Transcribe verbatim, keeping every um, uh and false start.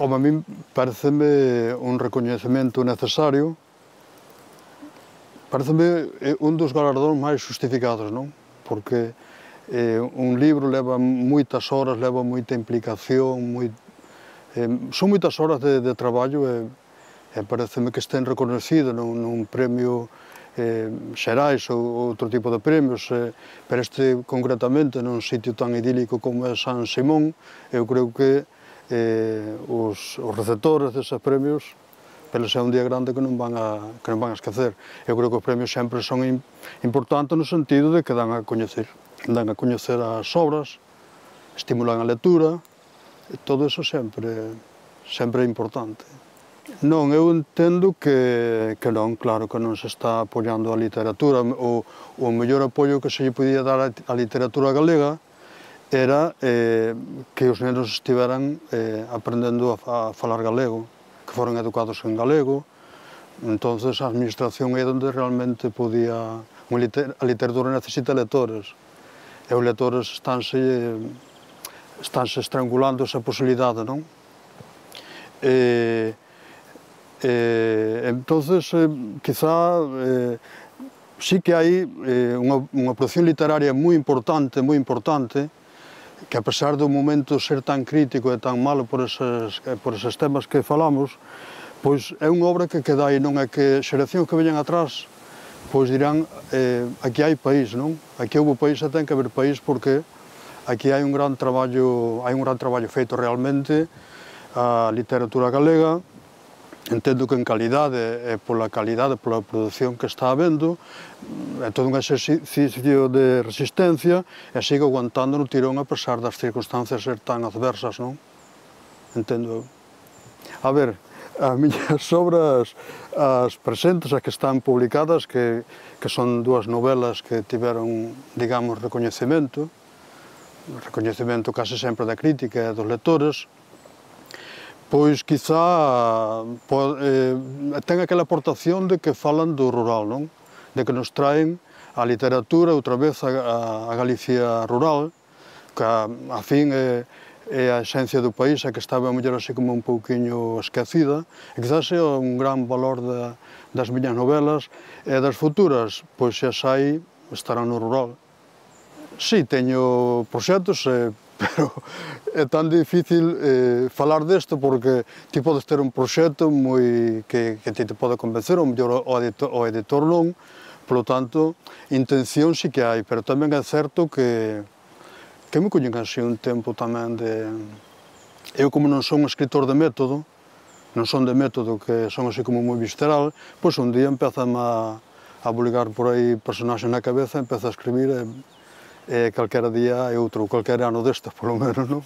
Como a mí pareceme un recoñecemento necesario, pareceme un dos galardóns máis justificados, non? Porque eh, un libro leva moitas horas, leva moita implicación, moi, eh, son moitas horas de, de traballo e, e pareceme que estén reconocidos nun, nun premio eh, xerais ou outro tipo de premios, eh, pero este concretamente nun sitio tan idílico como é San Simón, eu creo que eh, os, os receptores deses premios, pero é un día grande que non van a, que non van a esquecer. Eu creo que os premios sempre son in, importantes no sentido de que dan a coñecer, dan a coñecer as obras, estimulan a lectura, e todo eso sempre, sempre é importante. Non, eu entendo que, que non, claro que non se está apoiando a literatura. O, o mellor apoio que se lle podía dar á literatura galega era eh, que os nenos estiveran eh, aprendendo a, a falar galego, que foron educados en galego. Entonces a administración é onde realmente podía... A literatura necesita lectores, e os lectores estánse, estánse estrangulando esa posibilidade, non? E, e, entonces, eh, quizá, eh, sí que hai eh, unha, unha produción literaria moi importante, moi importante, que a pesar do momento ser tan crítico e tan malo por eses, por eses temas que falamos, pois é unha obra que queda aí, non é que xeracións que veñan atrás, pois dirán, eh, aquí hai país, non? Aquí houve país e ten que haber país porque aquí hai un gran traballo, hai un gran traballo feito realmente. A literatura galega, entendo que en calidade e pola calidade, pola produción que está habendo, é todo un exercicio de resistencia e sigue aguantando no tirón a pesar das circunstancias ser tan adversas, non? Entendo. A ver, as miñas obras, as presentes, as que están publicadas, que, que son dúas novelas que tiveron, digamos, recoñecemento, recoñecemento case sempre da crítica e dos lectores, pois quizá eh, ten aquela aportación de que falan do rural, non? De que nos traen a literatura outra vez a, a Galicia rural, que a, a fin é, é a esencia do país, a que estaba a mellor así como un pouquiño esquecida, e quizás é un gran valor da, das miñas novelas, e das futuras, pois xa sai, estarán no rural. Si, teño proxectos, eh, pero é tan difícil eh, falar desto porque ti podes ter un proxecto moi que, que ti te pode convencer, ou mellor o editor, o editor non, polo tanto, intención si que hai, pero tamén é certo que que me coñen así un tempo tamén de... Eu como non son un escritor de método, non son de método, que son así como moi visceral, pois un día empezame a, a bulgar por aí personaxes na cabeza, empeza a escribir e, e calquera día é outro, calquera ano destes, polo menos, non?